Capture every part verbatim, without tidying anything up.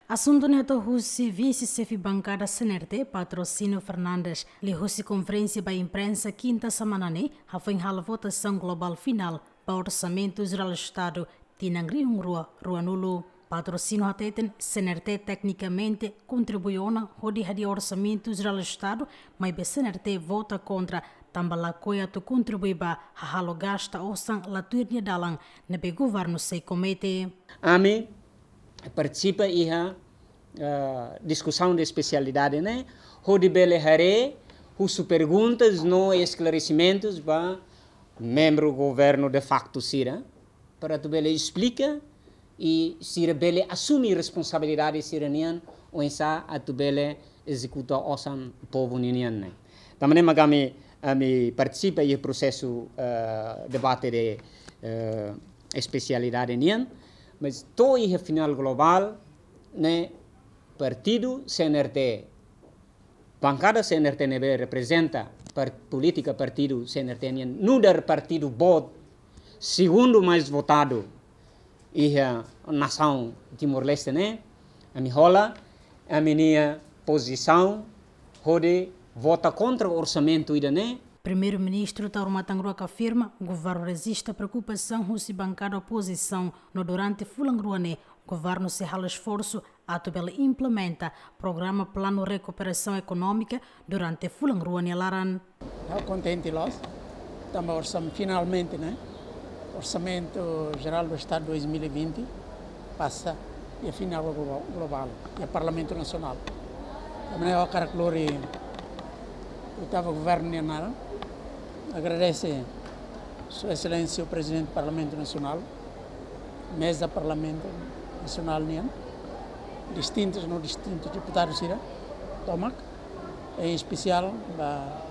Asuntu ne'e hato'o husi Vise-Xefe Bankada C N R T, Patrocínio Fernandes, liuhusi konferénsia ba imprensa kinta semana ne'e, hafoin hala'o votasaun globál finál ba Orsamentu Jerál Estadu tinan rihun rua ruanulu. Patrocínio hateten C N R T teknikamente kontribui ona hodi hadi'a Orsamentu Jerál Estadu, maibé C N R T vota kontra, tanba lakohi atu kontribui ba hahalok gasta osan la tuir nia dalan ne'ebé governu sei komete. Ami partisipa iha, ah, diskusaun de espesialidade ne'e, hodi bele haree husu perguntas no esklaresimentus ba membru governu de facto sira, para atu bele esplika i sira bele asume responsabilidade sira-nian, oinsá atu bele ezekuta osan povu ninian ne'e. Tanba ne'e mak ami, ami partisipa iha prosesu, eh, debate de, eh, espesialidade nian, mas to'o iha finál globál ne'e partidu C N R T, bankada C N R T ne'ebé reprezenta par-, polítika partidu C N R T nian, nu'udar partidu boot segundu mais votadu iha nasaun Timor-Leste ne'e, ami hola ami-nia pozisaun hodi vota kontra orsamentu ida-ne'e. Primeiru-Ministru Taur Matan Ruak afirma, governu rejista preokupasaun husi bankada opozisaun, no durante fulan rua ne'e, governu sei halo esforsu atu bele implementa programa Planu Rekuperasaun Ekonómika durante fulan rua nia laran. Ha'u kontente loos, tanba orsam-, finalmente, ne'e, Orsamentu Jerál do Estadu dois mil e vinte pasa iha finál glo-, globál, iha Parlamentu Nasionál. Tanba ne'e ha'u hakarak lori oitavu governu nia naran, agradese Sua Exelénsia Prezidente Parlamentu Nasionál, meza Parlamentu Nasionál nian, distintus no distintus deputadu sira tomak, em espesiál ba,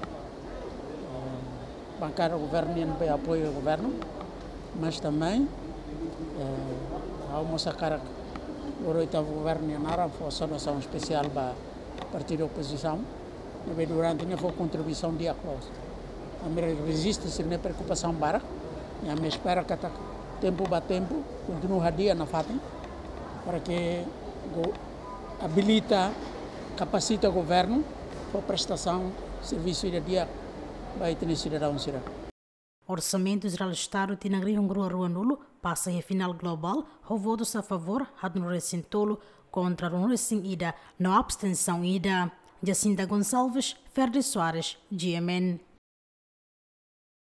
eh, bankada governu nian be apoiu governu, mas também, eh, ha'u mós hakarak lori oitavu governu nian naran fó saudasaun espesiál ba partidu opozisaun, ne'ebé durante ne'e fó kontribuisaun di'ak loos. Ami rejista sira-nia preokupasaun barak, i ami espera katak tempu ba tempu kontinua hadi'a nafatin, para que go-, abilita, kapasita governu fó prestasaun servisu ida di'ak ba ita-nia sidadaun sira. Orsamentu Jerál Estadu tinan rihun rua ruanulu pasa iha finál globál, ho votus a favór haat-nulu resin tolu, kontra ruanulu resin ida, no abstensaun ida. Jacinta Gonçalves, Ferdi Soares, G M N.